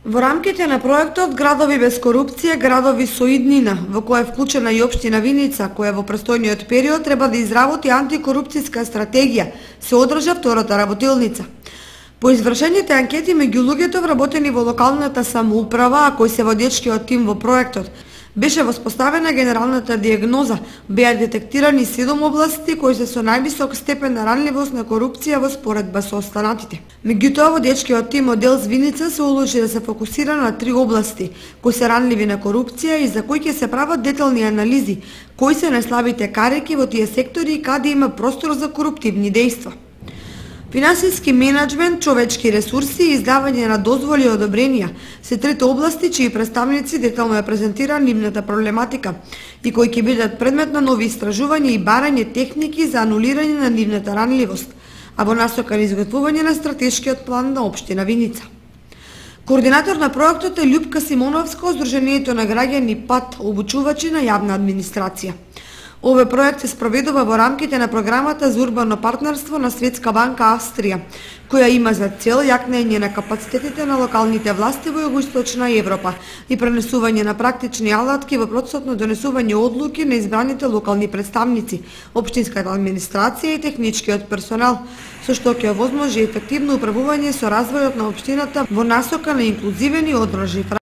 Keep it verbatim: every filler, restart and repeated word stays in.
Во рамките на проектот Градови без корупција, градови со иднина, во која е вклучена и општина Виница, која во престојниот период треба да изработи антикорупцијска стратегија, се одржа втората работилница. По извршените анкети меѓу луѓето вработени во локалната самоуправа, а кои се водечкиот тим во проектот, беше воспоставена генералната диагноза, беа детектирани седум области кои се со највисок степен на ранливост на корупција во споредба со останатите. Меѓутоа, водечкиот тим оддел Звиница се одлучи да се фокусира на три области кои се ранливи на корупција и за кои ќе се прават детални анализи, кои се најслабите карики во тие сектори и каде има простор за коруптивни дејства. Финансиски менеджмент, човечки ресурси и издавање на дозволи и одобренија се трите области чии представници детално ја презентира нивната проблематика и кои ќе бидат предмет на нови истражувања и барање техники за анулирање на нивната ранливост, а во насока на изготвување на стратешкиот план на општина Виница. Координатор на проектот е Љупка Симоновска од Сдруженијето на граѓани ПАТ, обучувачи на јавна администрација. Овој проект се спроведува во рамките на програмата за урбано партнерство на Светска банка Австрија, која има за цел јакнење на капацитетите на локалните власти во југоисточна Европа и пренесување на практични алатки во процесот на донесување одлуки на избраните локални представници, општинската администрација и техничкиот персонал, со што ќе овозможи ефективно управување со развојот на општината во насока на инклузивен и одржлив